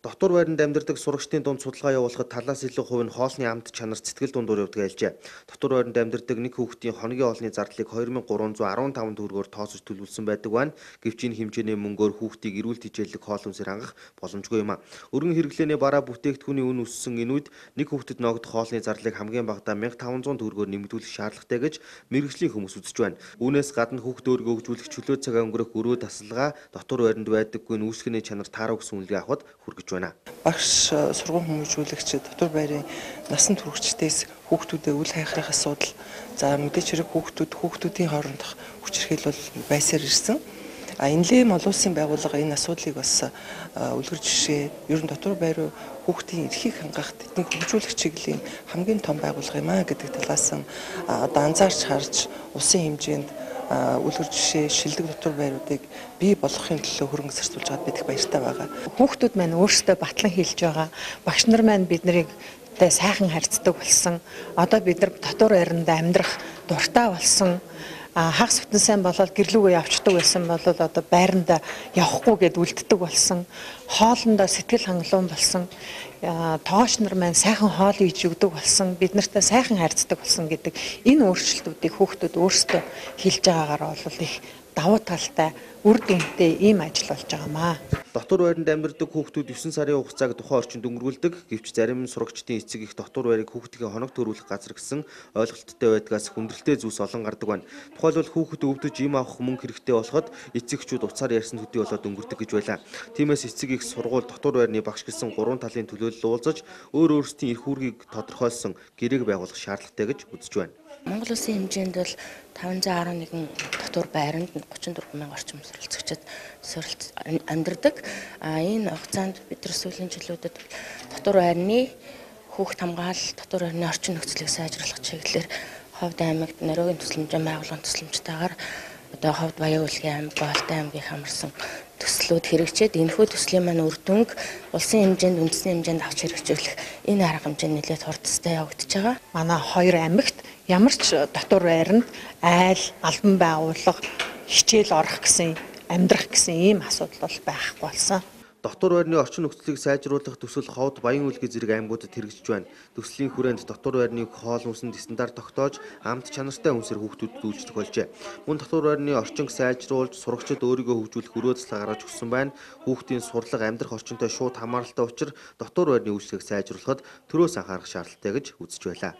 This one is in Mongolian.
Дотор байранд амьдардаг сурагчдын дунд судалгаа явуулахад талаас илүү хувь нь хоолны амт чанарт сэтгэл дундуур явдаг айлжээ. Дотор байранд амьдардаг нэг хүүхдийн хоногийн хоолны зардлыг 2315 төгрөгөөр тооцож төлөвлөсөн байдаг байна. Гэвч энэ хэмжээний мөнгөөр хүүхдийг эрүүл тэжээллэг хоол хүнсээр хангах боломжгүй юм а. Өргөн хэрэглээний бараа бүтээгдэхүүний үн өссөн энэ үед нэг хүүхдэд ногдох хоолны зарлыг хамгийн багадаа 1500 төгрөгөөр нэмэгдүүлэх шаардлагатай гэж мэргэжлийн хүмүүс үзэж байна. Үүнээс гадна хүүхд өөрийгөө хөгжүүлэх чөлөө цаг өнгөрөх өрөө тасалгаа дотор байранд байдаггүй үүсгэний чанар таарах гэсэн үнэлгээ авахд хүргэж байна. Багш сургууль хүмүүжүүлэгч дотор байрын насан туршидтээс хүүхдүүдэд үл хайхрах асуудал за мэдээч хэрэг хүүхдүүдийн хоорондох хүчирхийл бол байсаар ирсэн. Энэлэм олон улсын байгууллага энэ асуудлыг бас үлгэр жишээ ер нь дотор байр хүүхдийн эрхийг хангах тэдний хөгжүүлэх чиглэлийн хамгийн том байгууллага юм а гэдэг талаас нь анзаарч харж улсын хэмжээнд үлгэр жишээ шилдэг дотор байруудыг бий болгохын төлөө хөрөнгө зарцуулж байгаад бид их баяртай байгаа. Хүүхдүүд маань өөрсдөө батлан хэлж байгаа. Багш нар маань биднийг сайхан харьцдаг болсон. Одоо бид нар дотор байранд амьдрах дуртай болсон. Хагас бүтэн сайн болоод гэрлүүгөө явцдаг байсан бол одоо байранд явахгүй гэд үлддэг болсон. Хоолндоо сэтгэл хангалуун болсон. Тооч нар маань сайхан хоол хийж өгдөг болсон. Бид нартай сайхан харьцдаг болсон гэдэг энэ өөрчлөлтүүдийг хүүхдүүд өөрсдөө хэлж байгаагаар бол их давуу талтай үр дүнтэй ийм ажил болж байгаамаа. Дотор байранд амьдардаг хүүхдүүд 9 сарын хугацааг тухайн орчинд өнгөрүүлдэг. Гэвч зарим сурагчдын эцэг их дотор байрыг хүүхдийн хоног төрүүлэх газар гэсэн ойлголттой байдгаас хүндрэлтэй зүйлс олон гардаг байна. Тухайлбал хүүхэд өвдөж им авах мөнгө хэрэгтэй болоход эцэгчүүд уцаар ярьсан төдий болоод өнгөрдөг гэж байлаа. Тиймээс эцэг их сургууль дотор байрны багш гэсэн 3 талын төлөөлөл уулзаж өөрсдийн эрх үүргийг тодорхойлсон гэрээг байгуулах шаардлагатай гэж үзэж байна. Монгол улсын хэмжээнд бол 511 дотор байранд 34 мянган орчим суралцагчид амьдардаг. Энэ хугацаанд бид нар сүүлийн жилүүдэд дотор байрны хүүхд хамгаалал, дотор байрны орчин нөхцөлийг сайжруулах чиглэлээр Ховд аймагт Норвегийн тусламжийн байгууллагын тусламжтайгаар одоо Ховд Баян Улгийн аймаг, Голтой аймгийг хамарсан төслүүд хэрэгжээд энэхүү төслийн маань үр дүнг улсын хэмжээнд үндэсний хэмжээнд авч хэрэгжүүлэх энэ арга хэмжээ нэлээд хурдтай явагдаж байгаа. Манай хоёр аймагт ямар ч дотор байранд айл, албан байгууллага хичээл орох гэсэн, амьдрах гэсэн ийм асуудал бол байхгүй болсон. Дотор байрны орчин нөхцөлийг сайжруулах төсөл Ховд Баян Улгийн зэрэг аймагуудад хэрэгжиж байна. Төслийн хүрээнд дотор байрны хоол хүнсэнд стандарт тогтоож, амт чанартай хүнсээр хүүхдүүдэд үйлчлэх болжээ. Мөн дотор байрны орчинг сайжруулж, сурагчид өөрийгөө хөгжүүлэх өрөө заслаа гаргаж өгсөн байна. Хүүхдийн сурлага амьдрах орчинтой шууд хамааралтай учраа дотор байрны үйлчлэгийг сайжруулахад төрөөс анхаарах шаардлагатай гэж үзэж байлаа.